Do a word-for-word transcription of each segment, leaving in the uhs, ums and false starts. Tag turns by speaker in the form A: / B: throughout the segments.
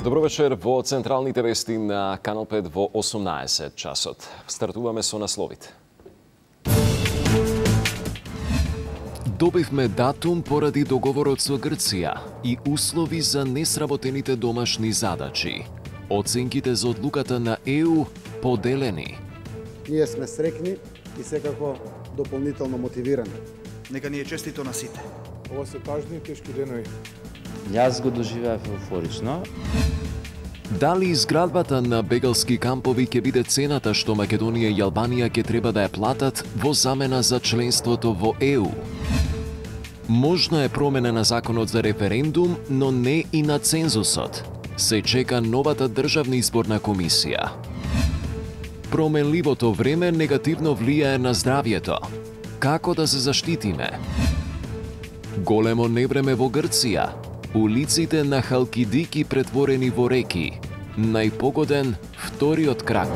A: Добро вечер во централните вести на Канал пет во осумнаесет часот. Стартуваме со насловите. Добивме датум поради договорот со Грција и услови за несработените домашни задачи. Оценките за одлуката на Е У поделени.
B: Ние сме срекни и секако дополнително мотивирани.
C: Нека ни е честито на сите.
D: Ова се тажни и тешки денови.
E: Јас го доживеав еуфорично.
A: Дали изградбата на бегалски кампови ќе биде цената што Македонија и Албанија ќе треба да ја платат во замена за членството во Е У? Можна е промена на законот за референдум, но не и на цензусот. Се чека новата државна изборна комисија. Променливото време негативно влијае на здравјето. Како да се заштитиме? Големо невреме во Грција. Улиците на Халкидики претворени во реки. Најпогоден вториот крак.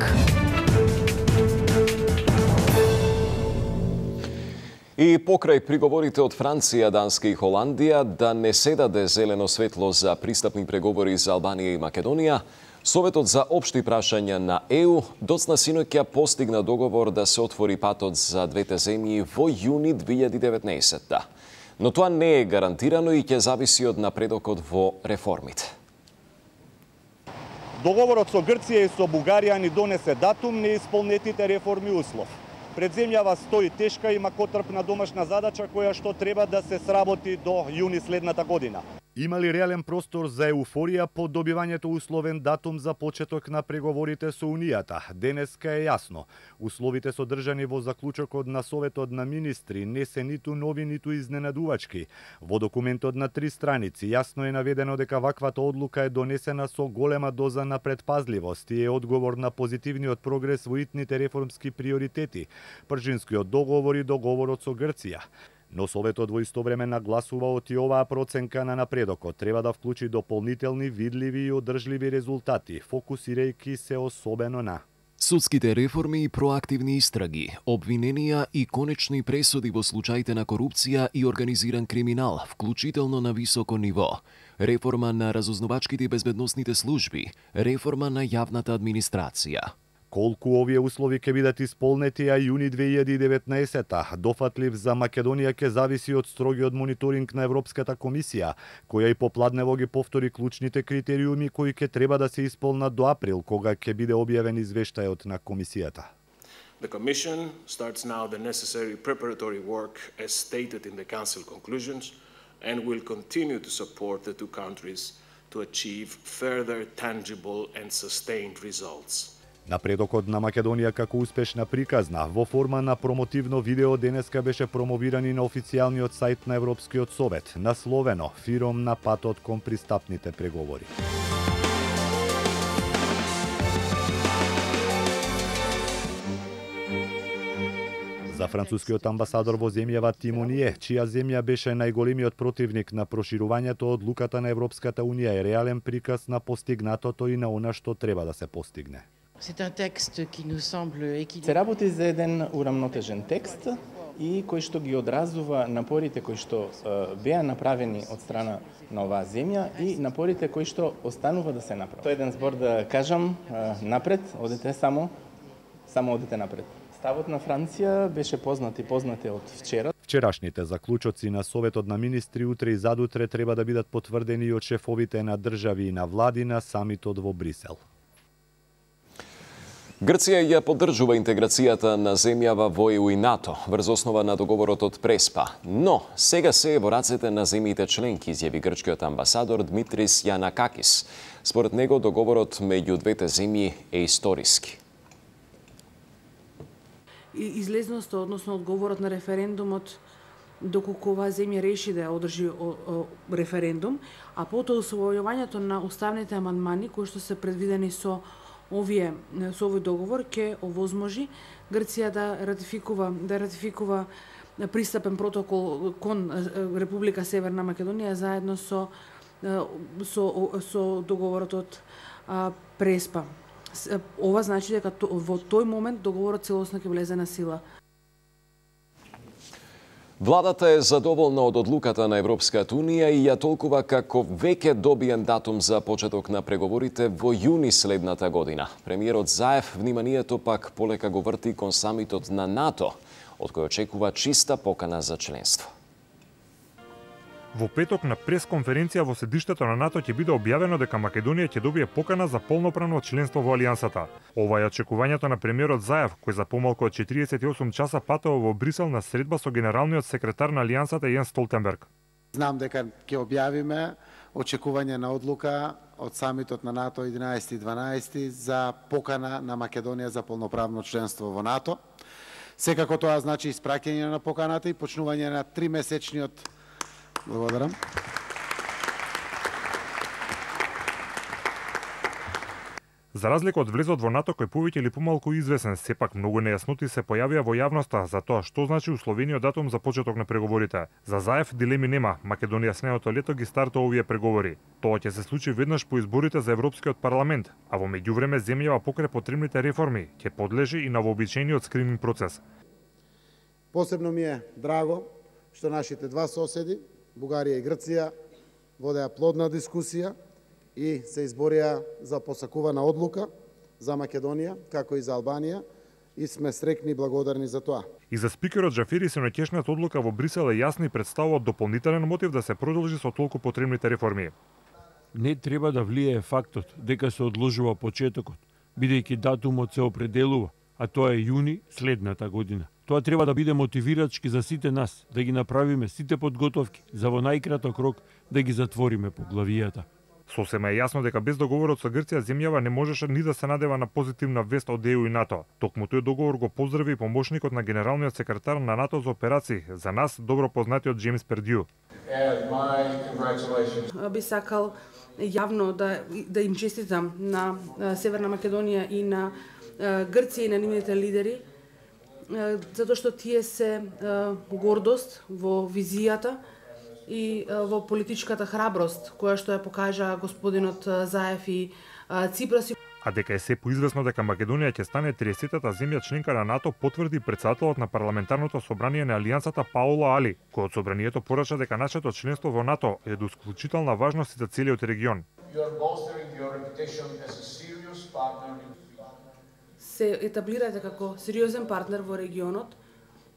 A: И покрај приговорите од Франција, Данска и Холандија да не се даде зелено светло за пристапни преговори за Албанија и Македонија, Советот за општи прашања на Е У доцна синоќа постигна договор да се отвори патот за двете земји во јуни две илјади и деветнаесетта. Но тоа не е гарантирано и ќе зависи од напредокот во реформите.
F: Договорот со Грција и со Бугарија ни донесе датум неисполнетите реформи услов. Пред земјава стои тешка и макотрпна домашна задача која што треба да се сработи до јуни следната година.
G: Има ли реален простор за еуфорија по добивањето условен датум за почеток на преговорите со Унијата? Денеска е јасно. Условите содржани во заклучокот на Советот на министри не се ниту нови, ниту изненадувачки. Во документот на три страници јасно е наведено дека ваквата одлука е донесена со голема доза на предпазливост и е одговор на позитивниот прогрес во итните реформски приоритети, пржинскиот договор и договорот со Грција. Но Советот во исто време нагласува оти оваа проценка на напредокот треба да вклучи дополнителни, видливи и одржливи резултати, фокусирајќи се особено на
A: судските реформи и проактивни истраги, обвиненија и конечни пресуди во случаите на корупција и организиран криминал, вклучително на високо ниво, реформа на разузнавачките и безбедносните служби, реформа на јавната администрација.
G: Колку овие услови ќе бидат исполнети, а јуни две илјади и деветнаесетта, дофатлив за Македонија ќе зависи од строгиот мониторинг на Европската комисија, која и попладнево ги повтори клучните критериуми кои ќе треба да се исполнат до април, кога ќе биде објавен извештајот на комисијата.
H: The Commission starts now the necessary preparatory work as stated in the Council conclusions and will continue to support the two countries to achieve further tangible and sustained results.
G: Напредокот на Македонија како успешна приказна во форма на промотивно видео денеска беше промовиран и на официјалниот сајт на Европскиот совет, насловено "Фиром на патот кон пристапните преговори". За францускиот амбасадор во земјава Тимоние, чија земја беше најголемиот противник на проширувањето, одлуката на Европската унија е реален приказ на постигнатото и на она што треба да се постигне.
E: Се работи за еден урамнотежен текст и кој што ги одразува напорите кои што беа направени од страна на оваа земја и напорите кои што останува да се направат. Тоа е еден збор да кажам напред, одете само, само одете напред. Ставот на Франција беше познат и познат од вчера.
G: Вчерашните заклучоци на Советот на министри утре и задутре треба да бидат потврдени и од шефовите на држави и на влади на самитот во Брисел.
A: Грција ја поддржува интеграцијата на земјава во Е У и НАТО врз основа на договорот од Преспа, но сега се е во рацете на земјите членки, изјави грчкиот амбасадор Дмитрис Јанакакис. Според него договорот меѓу двете земји е историски.
I: Излезноста, односно одговорот на референдумот, доколку оваа земја реши да одржи референдум, а потоа усвојувањето на уставните амандмани кои што се предвидени со овие со овој договор ќе овозможи Грција да ратификува да ратификува пристапен протокол кон Република Северна Македонија заедно со со со договорот од Преспа. Ова значи дека во тој момент договорот целосно ќе влезе на сила.
A: Владата е задоволна од одлуката на Европската Унија и ја толкува како веќе добиен датум за почеток на преговорите во јуни следната година. Премиерот Заев вниманието пак полека го врти кон самитот на НАТО, од кој очекува чиста покана за членство.
J: Во петок на пресконференција во седиштето на НАТО ќе биде објавено дека Македонија ќе добие покана за полноправно членство во Алијансата. Ова е очекувањето на премиерот Заев, кој за помалку од четириесет и осум часа патува во Брисел на средба со генералниот секретар на Алијансата Јенс Столтенберг.
B: Знам дека ќе објавиме очекување на одлука од самитот на НАТО единаесети и дванаесети за покана на Македонија за полноправно членство во НАТО. Секако тоа значи испраќање на поканата и почнување на тримесечниот. Благодарам.
J: За разлика од влезот во НАТО кој повеќе или помалку известен, сепак многу нејасноти се појавија во јавноста за тоа што значи условениот датум за почеток на преговорите. За Заев дилеми нема, Македонија снеото лето ги стартува овие преговори. Тоа ќе се случи веднаш по изборите за Европскиот парламент, а во меѓувреме земјава покрај потребните реформи ќе подлежи и на вообичаениот скрининг процес.
B: Посебно ми е драго што нашите два соседи, Бугарија и Грција, водеа плодна дискусија и се изборија за посакувана одлука за Македонија, како и за Албанија, и сме срекни и благодарни за тоа.
J: И за спикерот Джафери сенотешниот одлука во Брисел е јасна и представува дополнителен мотив да се продолжи со толку потребните реформи.
K: Не треба да влијае фактот дека се одложува почетокот, бидејќи датумот се определува, а тоа е јуни следната година. Тоа треба да биде мотивирачки за сите нас, да ги направиме сите подготовки за во најкраток рок да ги затвориме поглавијата.
J: Сосема е јасно дека без договорот со Грција земјава не можеше ни да се надева на позитивна вест од Е У и НАТО. Токму тој договор го поздрави и помошникот на генералниот секретар на НАТО за операции, за нас добро познатиот Джеймс Пердју.
I: Би сакал јавно да да им честитам на Северна Македонија и на Грција и на нивните лидери, затоа што тие се гордост во визијата и во политичката храброст која што ја покажа господинот Заев и Ципрас.
J: А дека е се поизвестно дека Македонија ќе стане триесетата земја членка на НАТО, потврди претседателот на парламентарното собрание на Алијансата Паула Али, кој од собранието порача дека нашето членство во НАТО е од исклучителна важност за целиот регион.
I: Се етаблирате како сериозен партнер во регионот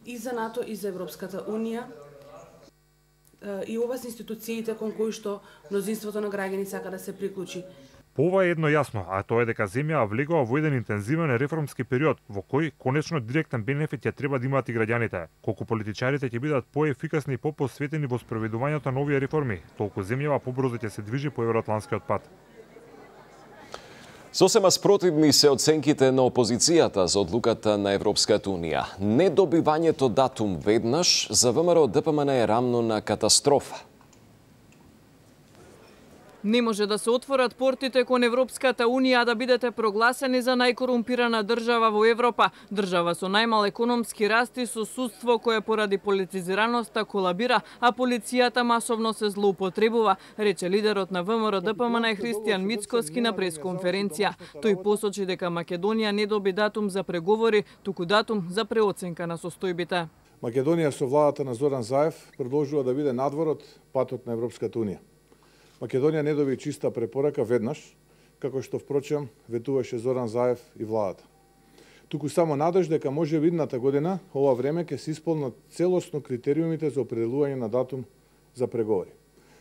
I: и за НАТО и за Европската Унија. И ова се институциите кон кои што мнозинството на граѓани сака да се приклучи.
J: По ова е едно јасно, а тоа е дека земјава влегува во еден интензивен реформски период, во кој конечно директен бенефит ја треба да имаат и граѓаните. Колку политичарите ќе бидат поефикасни и попосветени во спроведувањето на овие реформи, толку земјава побрзо ќе се движи по евроатланскиот пат.
A: Сосема спротивни се оценките на опозицијата за одлуката на Европската Унија. Недобивањето датум веднаш за ВМРО Д П М Н е рамно на катастрофа.
L: Не може да се отворат портите кон Европската Унија да бидете прогласени за најкорумпирана држава во Европа. Држава со најмал економски раст и со судство кое поради политизираноста колабира, а полицијата масовно се злоупотребува, рече лидерот на В М Р Д П М Н Христијан Мицкоски на пресконференција. Тој посочи дека Македонија не доби датум за преговори, туку датум за преоценка на состојбите.
D: Македонија со владата на Зоран Заев продолжува да биде надвор од патот на Европската Унија. Македонија не доби чиста препорака веднаш, како што впрочем ветуваше Зоран Заев и владата. Туку само надеж дека може видната година, ова време ќе се исполнат целосно критериумите за определување на датум за преговори.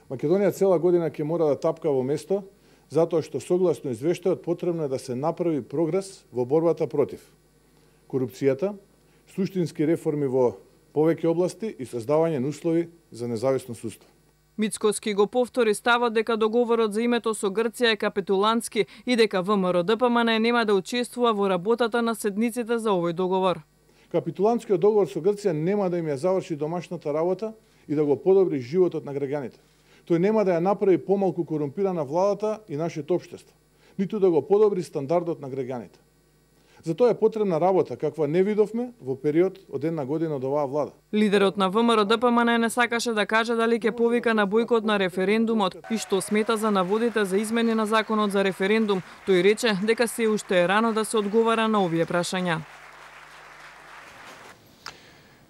D: Македонија цела година ќе мора да тапка во место, затоа што согласно извештајот потребно е да се направи прогрес во борбата против корупцијата, суштински реформи во повеќе области и создавање на услови за независно судство.
L: Мицкоски го повтори ставот дека договорот за името со Грција е капитулантски и дека В М Р Д П М Н нема да учествува во работата на седниците за овој договор.
D: Капитулантскиот договор со Грција нема да им ја заврши домашната работа и да го подобри животот на граѓаните. Тој нема да ја направи помалку корумпирана владата и нашето општество, ниту да го подобри стандардот на граѓаните. Затоа е потребна работа, каква не видовме во период од една година од оваа влада.
L: Лидерот на В М Р Д П М Н не сакаше да каже дали ќе повика на бојкот на референдумот и што смета за наводите за измени на законот за референдум. Тој рече дека се уште е рано да се одговара на овие прашања.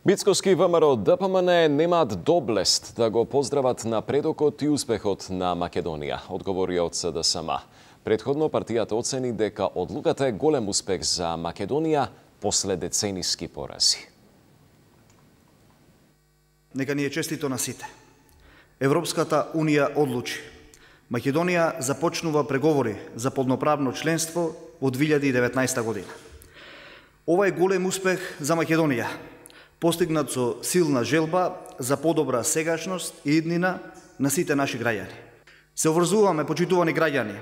A: Мицкоски ВМРО Д П М Н немаат доблест да го поздрават напредокот и успехот на Македонија, одговори од С Д С М. Предходно партијата оцени дека одлуката е голем успех за Македонија после децениски порази.
C: Нека ни е честито на сите. Европската Унија одлучи. Македонија започнува преговори за полноправно членство во две илјади и деветнаесета година. Ова е голем успех за Македонија, постигнат со силна желба за подобра сегашност и иднина на сите наши граѓани. Се обврзуваме, почитувани граѓани,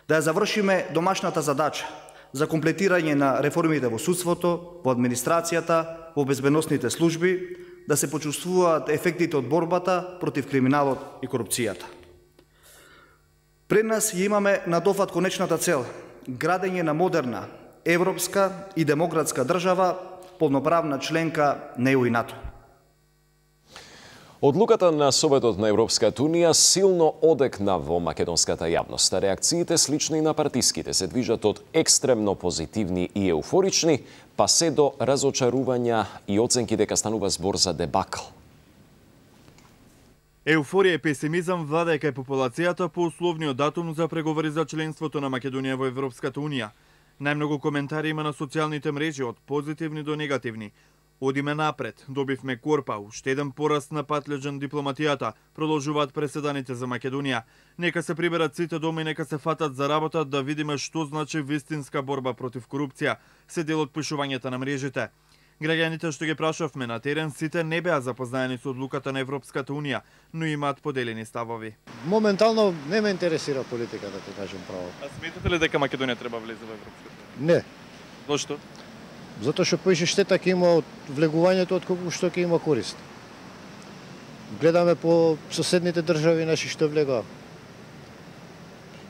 C: да ја завршиме домашната задача за комплетирање на реформите во судството, во администрацијата, во безбедносните служби, да се почувствуваат ефектите од борбата против криминалот и корупцијата. Пред нас ја имаме на дофат конечната цел – градење на модерна, европска и демократска држава, полноправна членка на Е У и НАТО.
A: Одлуката на Советот на Европската Унија силно одекна во македонската јавност. Реакциите слични на партиските се движат од екстремно позитивни и еуфорични, па се до разочарувања и оценки дека станува збор за дебакл.
M: Еуфорија и песимизам владае кај популацијата по условниот датум за преговори за членството на Македонија во Европската Унија. Најмногу коментари има на социјалните мрежи, од позитивни до негативни. Одиме напред, добивме корпа, уште еден пораст на пат леѓен дипломатијата, продолжуваат преседаните за Македонија. Нека се приберат сите дома и нека се фатат за работа да видиме што значи вистинска борба против корупција, се дел од пишувањата на мрежите. Граѓаните што ги прашавме на терен сите не беа запознаени со одлуката на Европската Унија, но имаат поделени ставови.
N: Моментално не ме интересира политика, да ти кажем право.
M: А сметате ли дека Македонија треба влезе во Европската Унија?
N: Не.
M: Зошто?
N: Затоа што поише штета ќе има од влегувањето од колку што ќе има корист. Гледаме по соседните држави наши што влегува.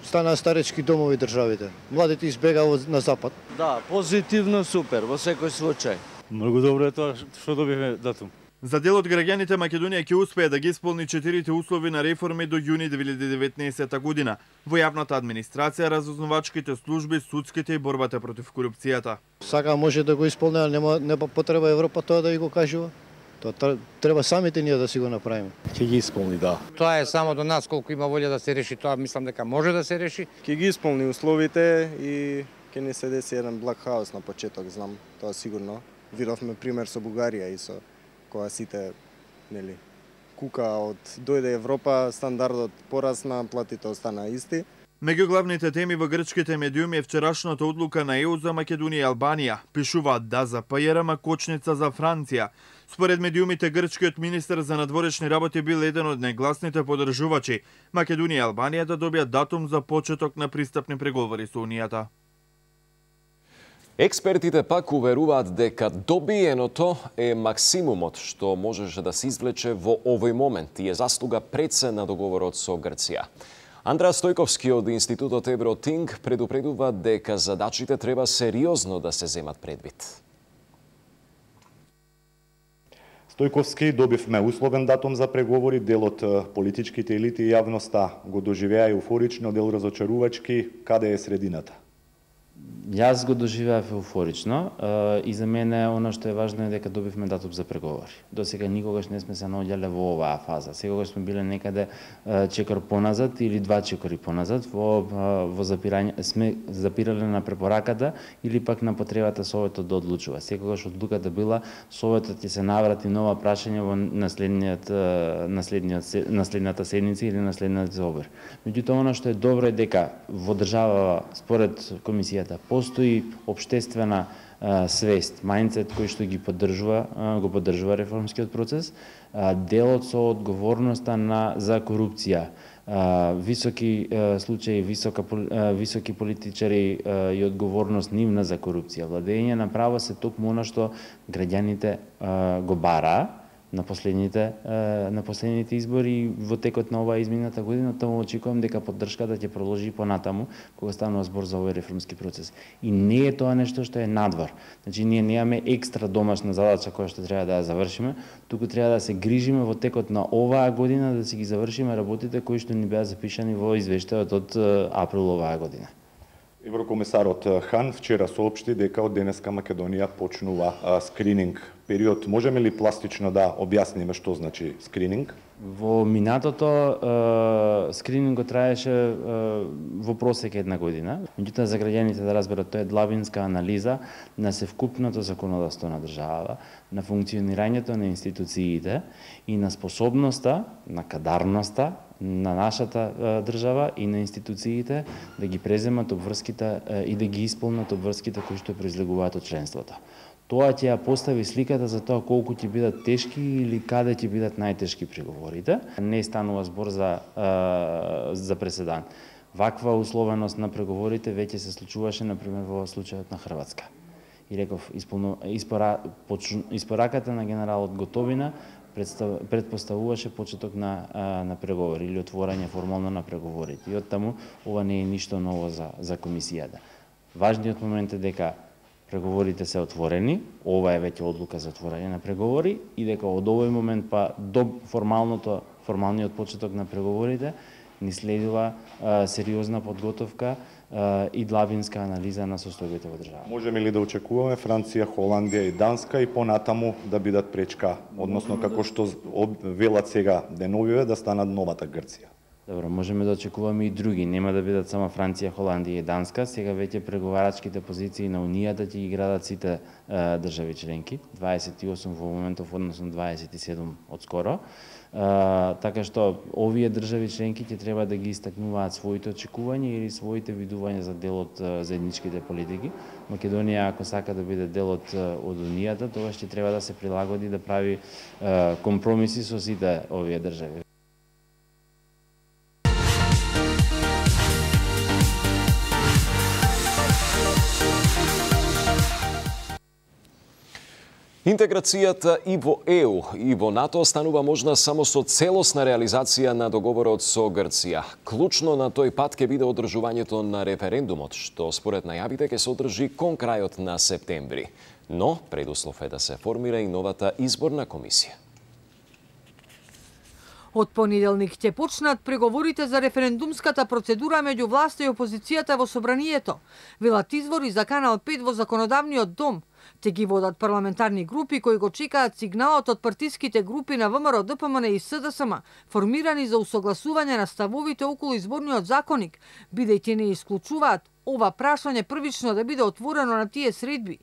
N: Станаа старечки домови државите. Младите избегаа на запад.
O: Да, позитивно супер во секој случај.
P: Многу добро е тоа што добивме датум.
M: За дел од граѓаните Македонија ќе успее да ги исполни четирите услови на реформи до јуни две илјади и деветнаесета година во јавната администрација, разузнавачките служби, судските и борбата против корупцијата.
N: Сака може да го исполнува, нема нема потреба Европа тоа да го кажува. Тоа треба самите ние да си го направиме.
P: Ќе ги исполни, да.
Q: Тоа е само до нас колку има волја да се реши, тоа мислам дека може да се реши.
R: Ќе ги исполни условите и ќе не се деси еден блак хаос на почеток, знам, тоа сигурно. Видовме пример со Бугарија и со кога сите, нели, кука од дојде Европа, стандардот порасна, платите остана исти.
M: Меѓу главните теми во грчките медиуми е вчерашната одлука на Е У за Македонија и Албанија. Пишуваат да за П Ј Р кочница за Франција. Според медиумите, грчкиот министер за надворешни работи бил еден од најгласните поддржувачи Македонија и Албанија да добијат датум за почеток на пристапни преговори со Унијата.
A: Експертите пак уверуваат дека добиеното е максимумот што можеше да се извлече во овој момент и е заслуга пред на договорот со Грција. Андреа Стојковски од Институтот Евротинг предупредува дека задачите треба сериозно да се земат предвид.
S: Стојковски, добивме условен датум за преговори, дел од политичките елити и јавноста го доживеа еуфорично, дел разочарувачки, каде е средината?
T: Јас го доживеав еуфорично и за мене оно што е важно е дека добивме датум за преговори. До сега никогаш не сме се наоѓале во оваа фаза. Секогаш сме биле некаде чекор поназад или два чекори поназад во во запирање сме запирале на препораката или пак на потребата Советот да одлучува. Секогаш одлуката била Советот ќе се наврати нова прашање во наследниот наследниот наследната седница или наследниот собор. Меѓутоа оно што е добро е дека во држава според комисијата постои општествена а, свест, мајндсет кој што ги поддржува, а, го поддржува реформскиот процес, а, делот со одговорноста на за корупција, а, високи а, случаи, висока а, високи политичари а, и одговорност нивна за корупција. Владење на право се токму она што граѓаните а, го бара на последните на последните избори во текот на оваа измината година, таму очекувам дека поддршката ќе продолжи понатаму кога станува збор за овој реформски процес. И не е тоа нешто што е надвор. Значи ние немаме екстра домашна задача која што треба да ја завршиме, туку треба да се грижиме во текот на оваа година да си ги завршиме работите кои што ни беа запишани во извештајот од април оваа година.
S: Еврокомисарот Хан вчера соопшти дека од денеска Македонија почнува а, скрининг период. Можеме ли пластично да објасниме што значи скрининг?
T: Во минатото е, скринингот траеше е, во просек една година. Меѓутоа за граѓаните да разберат, тоа е длабинска анализа на севкупното законодавство на државата, на функционирањето на институциите и на способноста, на кадарноста на нашата е, држава и на институциите да ги преземат обврските е, и да ги исполнат обврските кои што произлегуваат од членството. Тоа ќе ја постави сликата за тоа колку ќе бидат тешки или каде ќе бидат најтешки преговорите. Не станува збор за, е, за преседан. Ваква условеност на преговорите веќе се случуваше, например, во случајот на Хрватска. И реков, исполно, испора, почу, испораката на генералот Готовина предпоставуваше почеток на, на преговори или отворање формално на преговорите. И оттаму ова не е ништо ново за, за комисијата. Важниот момент е дека преговорите се отворени, ова е веќе одлука за отворање на преговори и дека од овој момент па до формалното формалниот почеток на преговорите ни следува а, сериозна подготовка а, и длабинска анализа на состојбите во држава.
S: Можеме ли да очекуваме Франција, Холандија и Данска и понатаму да бидат пречка, односно како што велат сега деновиве да станат новата Грција?
T: Добро, можеме да очекуваме и други, нема да бидат само Франција, Холандија и Данска. Сега веќе преговарачките позиции на Унијата ќе ги градат сите е, држави членки, дваесет и осум во моментов, односно дваесет и седум одскоро. Uh, така што овие држави членки ќе треба да ги истакнуваат своите очекувања или своите видувања за дел од uh, заедничките политики. Македонија, ако сака да биде дел од, uh, од Унијата, тоа ќе треба да се прилагоди, да прави uh, компромиси со сите овие држави.
A: Интеграцијата и во Е У и во НАТО станува можна само со целосна реализација на договорот со Грција. Клучно на тој пат ќе биде одржувањето на референдумот, што според најавите ќе се одржи кон крајот на септември. Но предуслов е да се формира и новата изборна комисија.
U: Од понеделник ќе почнат преговорите за референдумската процедура меѓу власта и опозицијата во собранието. Велат извори за Канал пет во законодавниот дом. Те ги водат парламентарни групи кои го чекаат сигналот од партиските групи на Вэ Ем Р, Д П М Н и С Д С М, формирани за усогласување на ставовите околу изборниот законник, бидејќи не исклучуваат ова прашање првично да биде отворено на тие средби.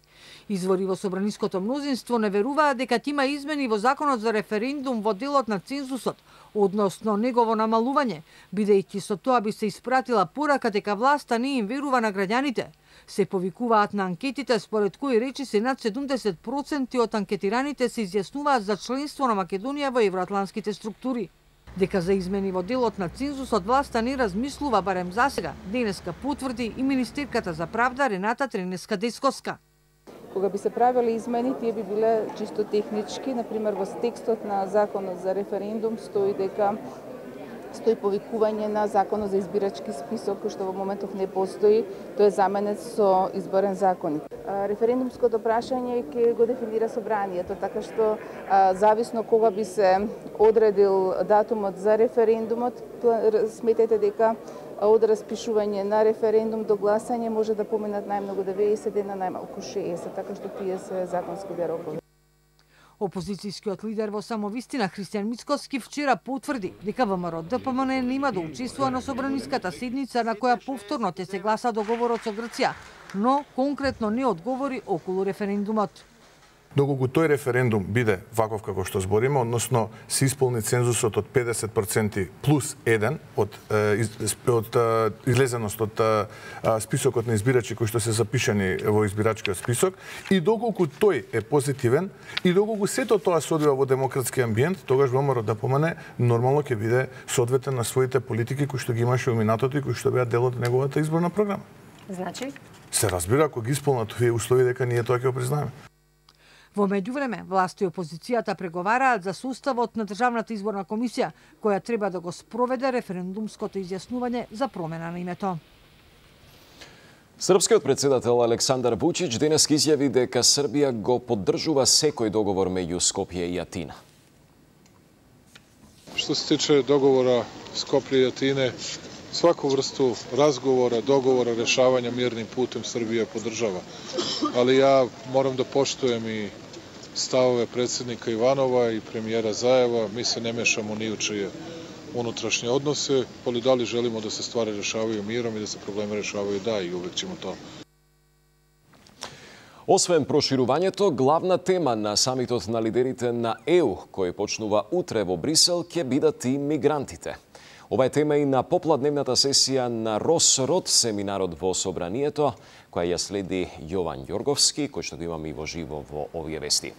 U: Извори во собраниското мнозинство не веруваат дека ќе има измени во законот за референдум во делот на цензусот, односно негово намалување, бидејќи со тоа би се испратила порака дека власта не им верува на граѓаните. Се повикуваат на анкетите според кои речи се над седумдесет проценти од анкетираните се изјаснуваат за членство на Македонија во евроатланските структури. Дека за измени во делот на цензусот власта не размислува барем засега, денеска потврди и министерката за правда Рената Тренеска-Десковска.
V: Кога би се правили измени, тие би биле чисто технички, например во текстот на законот за референдум стои дека стои повикување на законот за избирачки список, кој што во моментов не постои, тој е заменет со изборен законник. Референдумското прашање ќе го дефинира собранието, така што зависно кога би се одредил датумот за референдумот, сметете дека од распишување на референдум до гласање може да поминат најмногу деветдесет дена, најмалку шеесет, така што тие се законските рокови.
U: Опозицијскиот лидер во самовистина Христијан Мицкоски вчера потврди дека Вэ Ем Р Д П М Н нема да учествува на собраниската седница на која повторно ќе се гласа договорот со Грција, но конкретно не одговори околу референдумот.
D: Доколку тој референдум биде ваков како што збориме, односно се исполни цензусот од педесет проценти плюс еден од, од излезеност од списокот на избирачи кои што се запишани во избирачкиот список, и доколку тој е позитивен, и доколку сето тоа се одвива во демократски амбиент, тогаш Вэ Ем Р Д П М Н нормално ќе биде соодветен на своите политики кои што ги имаше во минатото и кои што беа дел од неговата изборна програма.
W: Значи?
D: Се разбира, ако ги исполнат овие услови, дека ние тоа ќе го признаеме.
U: Во меѓувреме, власта и опозицијата преговараат за составот на Државната изборна комисија, која треба да го спроведе референдумското изјаснување за промена на името.
A: Српскиот председател Александар Вучич денес изјави дека Србија го поддржува секој договор меѓу Скопје и Атина.
X: Што се тиче договора Скопје и Атине,
D: Svaku vrstu razgovora, dogovora, rešavanja mirnim putem Srbija podržava. Ali ja moram da poštujem i stavove predsjednika Ivanova i premijera Zajeva. Mi se ne mešamo ni u čije unutrašnje odnose, ali da li želimo da se stvari rešavaju mirom i da se probleme rešavaju, da, i uvek ćemo to.
A: Освен проширувањето, главна тема на самитот на лидерите на Е У, кој почнува утре во Брисел, ќе бидат и мигрантите. Ова е тема и на попладневната сесија на Росрод, семинарот во Собранието, која ја следи Јован Јорговски, кој што го имаме и во живо во овие вести.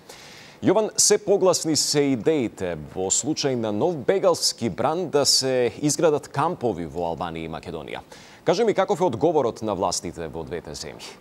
A: Јован, се погласни се идеите во случај на нов бегалски бран да се изградат кампови во Албанија и Македонија. Кажи ми каков е одговорот на властите во двете земји?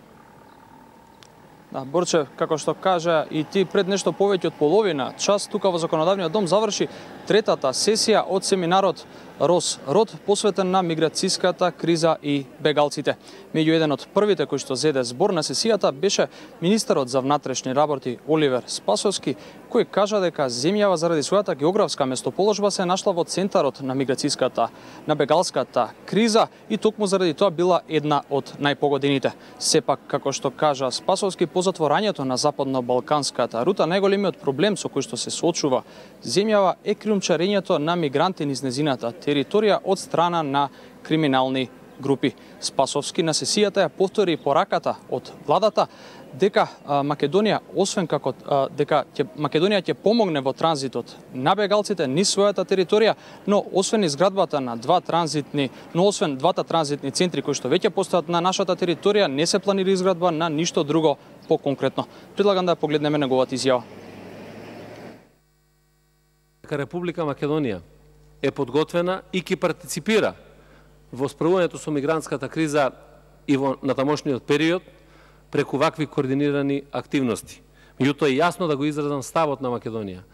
F: Да, Борче, како што кажа и ти пред нешто повеќе од половина час тука во Законодавниот дом заврши третата сесија од семинарот Росрод, посветен на миграцијската криза и бегалците. Меѓу еден од првите кој што зеде збор на сесијата беше министерот за внатрешни работи Оливер Спасовски, кој кажа дека земјава заради својата географска местоположба се нашла во центарот на миграцијската, на бегалската криза и токму заради тоа била една од најпогодените. Сепак, како што кажа Спасовски, по затворањето на западно-балканската рута, најголемиот проблем со кој што се соочува земјава е криумчарењето на мигранти низ незината територија од страна на криминални групи. Спасовски на сесијата ја повтори пораката од владата дека а, Македонија, освен како а, дека ќе, Македонија ќе помогне во транзитот на бегалците низ својата територија, но освен изградбата на два транзитни, но освен двата транзитни центри кои што веќе постојат на нашата територија, не се планира изградба на ништо друго поконкретно. Предлагам да погледнеме неговата изјава.
H: Република Македонија е подготвена и ќе партиципира во справувањето со мигрантската криза и во натамошниот период преку вакви координирани активности. Меѓутоа е јасно да го изразам ставот на Македонија,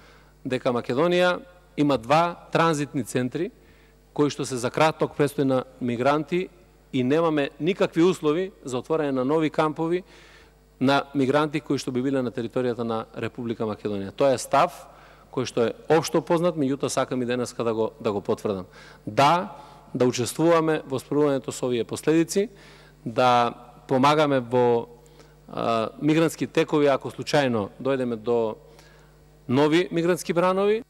H: дека Македонија има два транзитни центри кои што се за краток престој на мигранти и немаме никакви услови за отворање на нови кампови на мигранти кои што би биле на територијата на Република Македонија. Тоа е став кој што е општо познат, меѓутоа сакам и денеска да го да го потврдам. Да, да учествуваме во справувањето со овие последици, да помагаме во а, мигрантски текови ако случајно дојдеме до нови мигрантски бранови.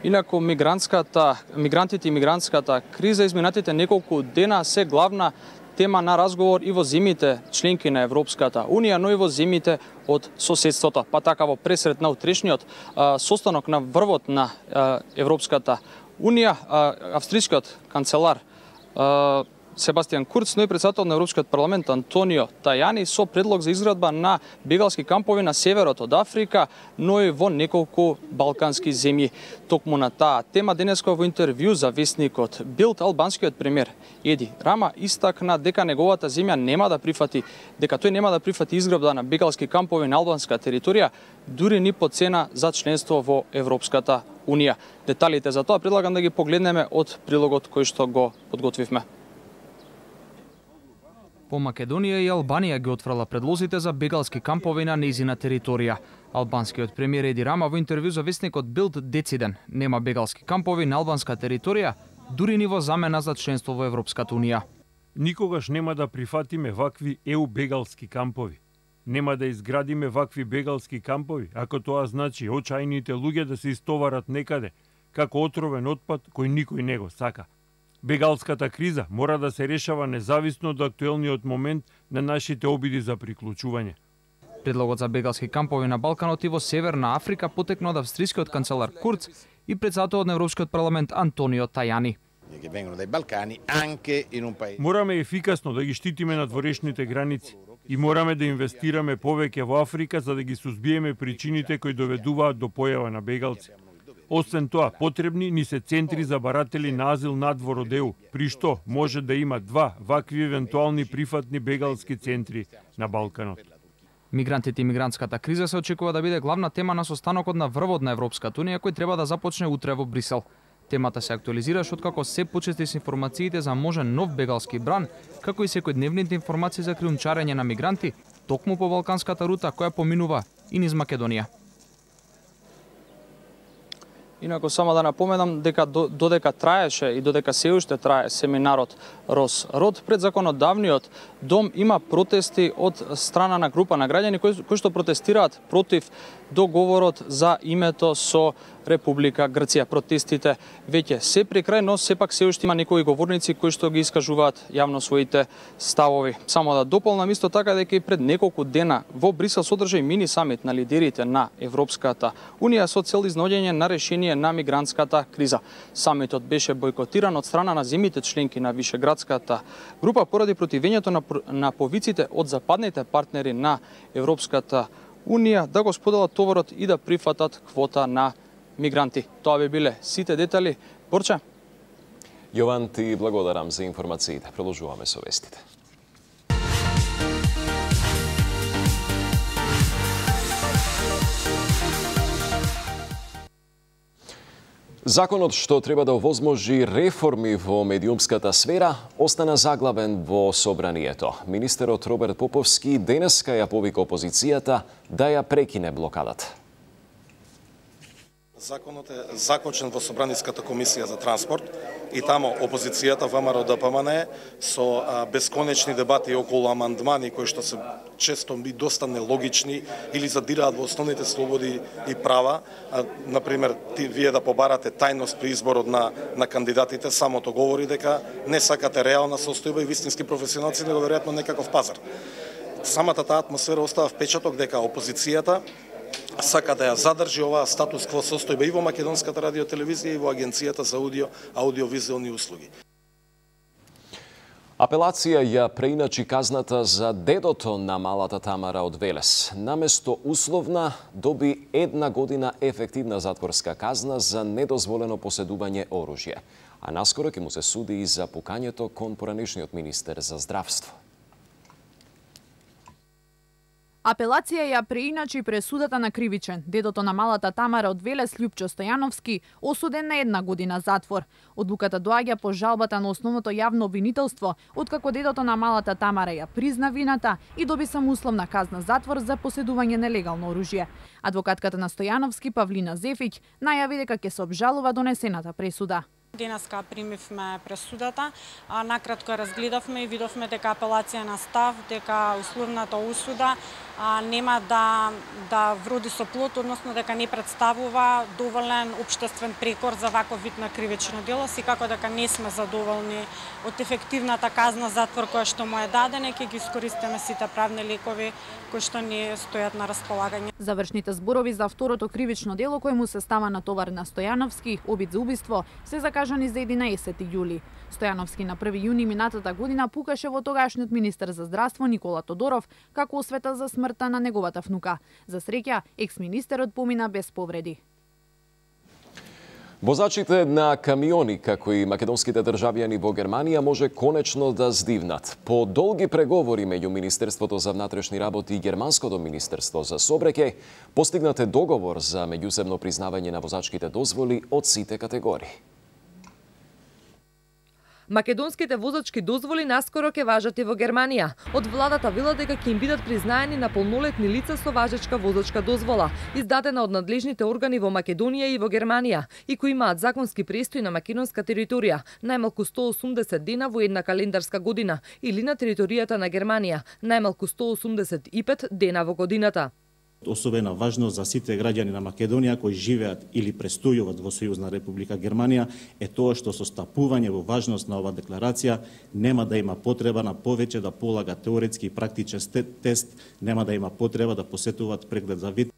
F: Инаку мигрантската мигрантите и мигрантската криза изминатите неколку дена се главна тема на разговор и во земјите членки на Европската Унија, но и во земјите од соседството. Па така во пресред на утрешниот а, состанок на врвот на а, Европската Унија, а, австрискиот канцелар а, Себастијан Курц, но и председател на Европскиот парламент Антонио Тајани со предлог за изградба на бегалски кампови на северот од Африка, но и во неколку балкански земји. Токму на таа тема денеска во интервју за вестникот Билд, албанскиот премиер Еди Рама истакна дека неговата земја нема да прифати, дека тој нема да прифати изградба на бегалски кампови на албанска територија, дури ни по цена за членство во Европската Унија. Деталите за тоа предлагам да ги погледнеме од прилогот кој што го подготвивме.
W: По Македонија и Албанија ги отфрла предлозите за бегалски кампови на нејзина територија. Албанскиот премиер Еди Рама во интервју за вестникот Билд дециден нема бегалски кампови на албанска територија, дури ни во замена за членство во Европската Унија.
K: Никогаш нема да прифатиме вакви Е У бегалски кампови. Нема да изградиме вакви бегалски кампови, ако тоа значи очајните луѓе да се истоварат некаде, како отровен отпад кој никој не го сака. Бегалската криза мора да се решава независно од актуелниот момент на нашите обиди за приклучување.
W: Предлогот за бегалски кампови на Балканот и во Северна Африка потекна од австрискиот канцелар Курц и председателот на Европскиот парламент Антонио Тајани.
K: Мораме ефикасно да ги штитиме надворешните граници и мораме да инвестираме повеќе во Африка за да ги сузбиеме причините кои доведуваат до појава на бегалци. Освен тоа, потребни ни се центри за баратели на азил надвор од Е У, при што може да има два вакви евентуални прифатни бегалски центри на Балканот.
W: Мигрантите и мигрантската криза се очекува да биде главна тема на состанокот на врвот на Европската Унија кој треба да започне утре во Брисел. Темата се актуализираш откако се почести се информациите за можен нов бегалски бран, како и секојдневните информации за криумчарење на мигранти токму по балканската рута која поминува и низ Македонија.
F: Инаку само да напоменам дека додека траеше и додека се уште трае семинарот Рос-Род, пред законодавниот дом има протести од страна на група на граѓани кои, кои што протестираат против договорот за името со Република Грција. Протестите веќе се при крај, но сепак се уште има некои говорници кои што ги искажуваат јавно своите ставови. Само да дополнам исто така дека и пред неколку дена во Брисел содржа и мини самит на лидерите на Европската Унија со цел изнаоѓање на решение на мигрантската криза. Самитот беше бойкотиран од страна на земјите членки на Вишеградската група поради противењето на, на повиците од западните партнери на Европската Унија да го споделат товарот и да прифатат квота на мигранти. Тоа би биле сите детали. Борче?
A: Јован, ти благодарам за информациите. Продолжуваме со вестите. Законот што треба да овозможи реформи во медиумската сфера остана заглавен во собранието. Министерот Роберт Поповски денеска ја повика опозицијата да ја прекине блокадата.
B: Законот е закочен во Собраниската комисија за транспорт и тамо опозицијата ВМРО Д П М Н со а, бесконечни дебати околу амандмани кои што се често би доста нелогични или задираат во основните слободи и права. А, например, ти вие да побарате тајност при изборот на на кандидатите, самото говори дека не сакате реална состојба и вистински професионалци, него веројатно некаков пазар. Самата таа атмосфера остава впечаток дека опозицијата сака да ја задржи оваа статус кво состојба и во Македонската радиотелевизија и во Агенцијата за аудио аудиовизуелни услуги.
A: Апелација ја преиначи казната за дедото на малата Тамара од Велес. Наместо условна доби една година ефективна затворска казна за недозволено поседување оружје. А наскоро ќе му се суди и за пукањето кон поранешниот министер за здравство.
E: Апелација ја преиначи пресудата на кривичен. Дедото на малата Тамара од Велес, Љупчо Стојановски, осуден на една година затвор. Одлуката доаѓа по жалбата на основното јавно обвинителство, откако дедото на малата Тамара ја призна вината и доби самоусловна казна затвор за поседување нелегално оружје. Адвокатката на Стојановски, Павлина Зефиќ, најави дека ќе се обжалува донесената пресуда.
G: Денеска примивме пресудата, а накратко разгледавме и видовме дека апелација на став, дека условната осуда а, нема да да вроди со плод, односно дека не представува доволен општествен прекор за ваков вид на кривично дело, секако дека не сме задоволни од ефективната казна затвор која што му е дадена, ќе ги искористиме сите правни лекови кои што ни стојат на располагање.
E: Завршните зборови за второто кривично дело кој му се става на товар на Стојановски, обид за убиство, се закажани за единаесети јули. Стојановски на први јуни минатата година пукаше во тогашниот министер за здравство Никола Тодоров како освета за смртта на неговата внука. За среќа, екс-министерот помина без повреди.
A: Возачите на камиони, како и македонските државјани во Германија, може конечно да здивнат. По долги преговори меѓу Министерството за внатрешни работи и Германското Министерство за сообраќај, постигнат е договор за меѓусебно признавање на возачките дозволи од сите категории.
X: Македонските возачки дозволи наскоро ќе важат и во Германија. Од владата вела дека ќе им бидат признаени на полнолетни лица со важечка возачка дозвола, издадена од надлежните органи во Македонија и во Германија, и кои имаат законски престој на македонска територија, најмалку сто осумдесет дена во една календарска година, или на територијата на Германија, најмалку сто осумдесет и пет дена во годината.
Y: Особена важност за сите граѓани на Македонија кои живеат или престојуваат во Сојузна Република Германија е тоа што со стапување во важност на оваа декларација нема да има потреба на повеќе да полага теоретски и практичен тест, нема да има потреба да посетуваат преглед за вид.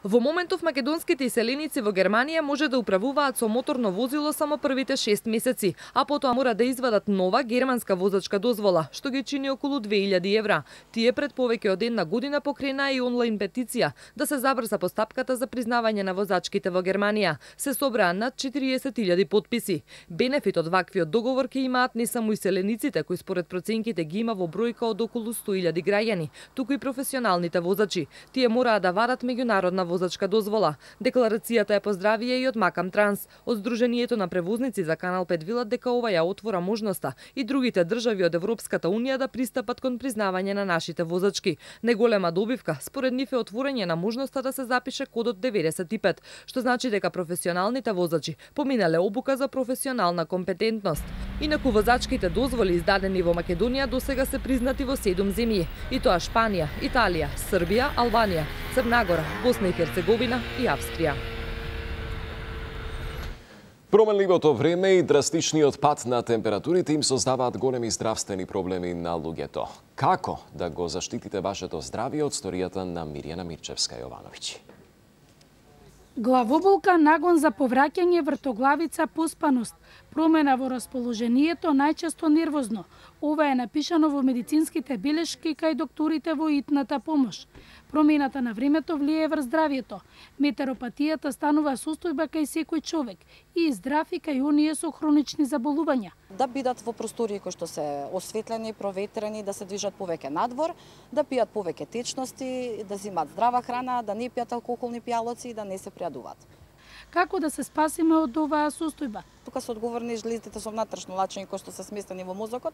X: Во моментов македонските иселеници во Германија може да управуваат со моторно возило само првите шест месеци, а потоа мора да извадат нова германска возачка дозвола, што ги чини околу две илјади евра. Тие пред повеќе од една година покрена и онлайн петиција да се забрза постапката за признавање на возачките во Германија. Се собраа над четириесет илјади потписи. Бенефит од ваквиот договор ќе имаат не само иселениците кои според проценките ги има во бројка од околу сто илјади граѓани, туку и професионалните возачи. Тие мораа да вадат меѓународна возачка дозвола. Декларацијата ја поздравија и од Макам Транс. Од Сдруженијето на превозници за Канал пет велат дека ова ја отвора можноста и другите држави од Европската унија да пристапат кон признавање на нашите возачки. Неголема добивка, според нив е отворање на можноста да се запише кодот деветдесет и пет, што значи дека професионалните возачи поминале обука за професионална компетентност. Инаку возачките дозволи издадени во Македонија досега се признати во седум земји, и тоа Шпанија, Италија, Србија, Албанија, Црна Гора, Босна и Херцеговина и Австрија.
A: Променливото време и драстичниот пад на температурите им создаваат големи здравствени проблеми на луѓето. Како да го заштитите вашето здравје од сторијата на Мирјана Мирчевска-Јовановиќ?
C: Главоболка, нагон за повраќање, вртоглавица, поспаност, промена во расположението, најчесто нервозно. Ова е напишано во медицинските белешки кај докторите во итната помош. Промената на времето влијае врз здравјето. Метеоропатијата станува состојба кај секој човек, и здрав и кај оние со хронични заболувања.
I: Да бидат во простории кои што се осветлени, проветрени, да се движат повеќе надвор, да пијат повеќе течности, да зимат здрава храна, да не пијат алкохолни пијалоци и да не се пријадуваат.
C: Како да се спасиме од оваа состојба?
I: Тука се одговорни жлезите со внатрешно лачење кои што се сместени во мозокот,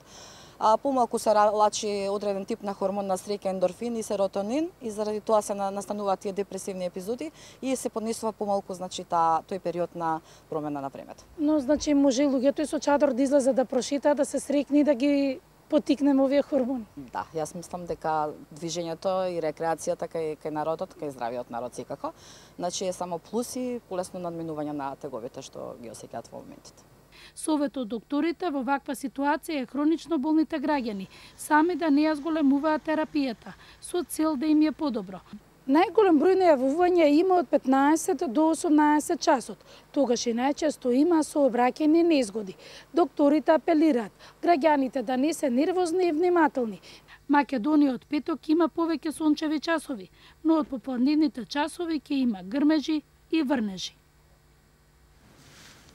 I: а помалку се лачи одреден тип на хормон на среќа, ендорфин и серотонин, и заради тоа се настануваат тие депресивни епизоди и се поднесува помалку, значи, та, тој период на промена на времето.
C: Но значи може луѓето и со чадор да излезат да прошетаат, да се срекни, да ги потикнеме овие хормони.
I: Да, јас мислам дека движењето и рекреацијата кај, кај народот, кај здравиот народ секако, значи е само плюси, полесно надминување на теговите што ги осеќаат во моментите.
C: Совет од докторите во ваква ситуација е хронично болните граѓани сами да не ја зголемуваат терапијата, со цел да им е подобро. Најголем број на јавувања има од петнаесет до осумнаесет часот. Тогаш и најчесто има сообраќајни незгоди. Докторите апелираат граѓаните да не се нервозни и внимателни. Македонија од петок има повеќе сончеви часови, но од попладневните часови ќе има грмежи и врнежи.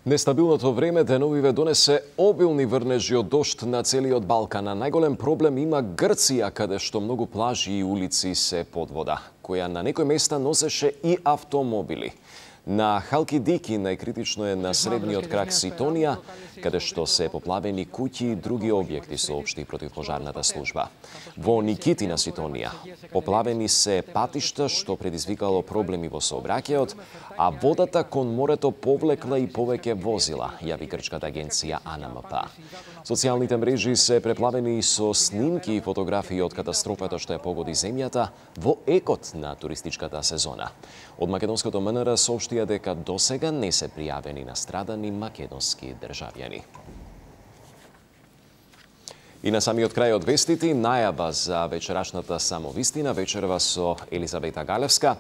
A: Нестабилното време деновиве донесе обилни врнежи од дожд на целиот Балкан. А најголем проблем има Грција, каде што многу плажи и улици се под вода, која на некои места носеше и автомобили. На Халкидики најкритично е на средниот крак Ситонија, каде што се поплавени куќи и други објекти, соопшти противпожарната служба. Во Никитина, Ситонија, поплавени се патишта, што предизвикало проблеми во сообраќајот, а водата кон морето повлекла и повеќе возила, јави грчката агенција А Н М П. Социјалните мрежи се преплавени со снимки и фотографии од катастрофата што ја погоди земјата во екот на туристичката сезона. Од македонското М Н Р соопштија дека досега не се пријавени настрадани македонски државјани. И на самиот крај од вестите, најава за вечерашната самовистина, вечерва со Елизавета Галевска.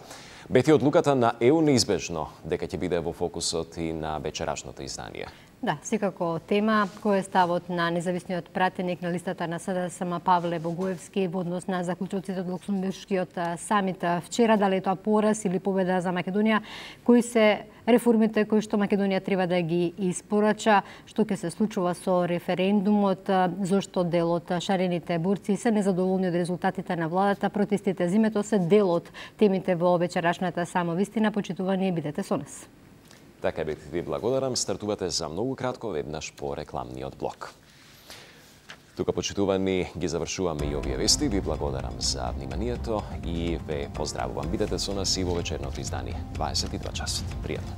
A: Бети одлуката на Е У неизбежно дека ќе биде во фокусот и на вечерашното издание.
J: Да, секако тема кој е ставот на независниот пратеник на листата на С Д С М Павле Богуевски во однос на заклучоците од Луксембуршкиот самит вчера, дали е тоа пораз или победа за Македонија, кои се реформите кои што Македонија треба да ги испорача, што ќе се случува со референдумот, зошто дел од шарените борци се незадоволни од резултатите на владата, протестите зимето се дел од темите во вечерашната самовистина. Почитувани, бидете со нас.
A: Така бе, ви благодарам. Стартувате за многу кратко веднаш по рекламниот блок. Тука, почитувани, ги завршуваме и овие вести. Ви благодарам за вниманието и ве поздравувам. Бидете со нас и во вечерното издание. дваесет и два часот. Пријатно.